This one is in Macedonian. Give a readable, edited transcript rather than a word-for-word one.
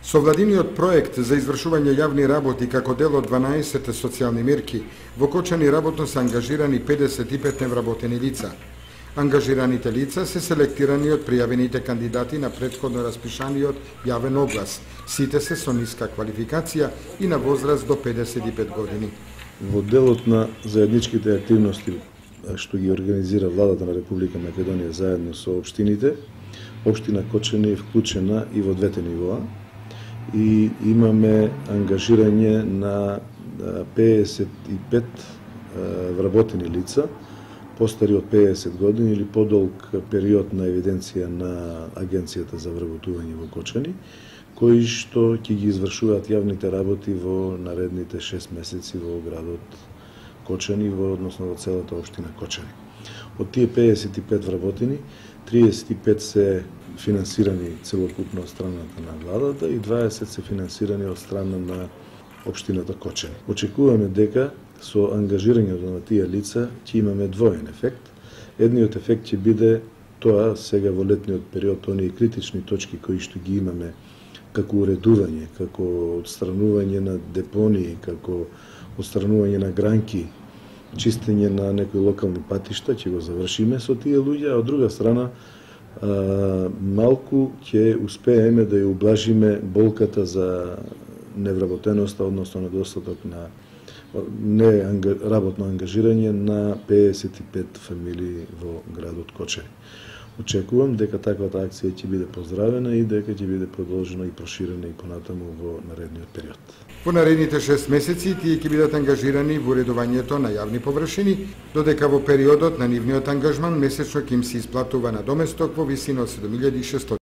Со владиниот проект за извршување јавни работи како дел од 12 социјални мерки, во Кочани работно се ангажирани 55 невработени лица. Ангажираните лица се селектирани од пријавените кандидати на претходно распишаниот јавен оглас. Сите се со ниска квалификација и на возраст до 55 години. Во делот на заедничките активности што ги организира владата на Република Македонија заедно со општините, општина Кочани е вклучена и во двете нивоа и имаме ангажирање на 55 вработени лица, постари од 50 години или подолг период на евиденција на Агенцијата за вработување во Кочани, кои што ќе ги извршуваат јавните работи во наредните 6 месеци во градот Кочани, односно во целата општина Кочани. Од тие 55 вработени, 35 се финансирани целокупно од страната на владата и 20 се финансирани од страна на општината Кочани. Очекуваме дека со ангажирањето на тие лица ќе имаме двоен ефект. Едниот ефект ќе биде тоа сега во летниот период, оние критични точки кои што ги имаме како уредување, како отстранување на депонии, како отстранување на гранки, чистење на некои локални патишта, ќе го завршиме со тие луѓе, а од друга страна малку ќе успееме да ја ублажиме болката за невработеноста, односно недостаток на работно ангажирање на 55 фамилии во градот Кочани. Очекувам дека таквата акција ќе биде поздравена и дека ќе биде продолжена и проширена и понатаму во наредниот период. Во наредните 6 месеци тие ќе бидат ангажирани во уредувањето на јавни површини, додека во периодот на нивниот ангажман месечно ќе им се исплатува надоместок во висина од 7600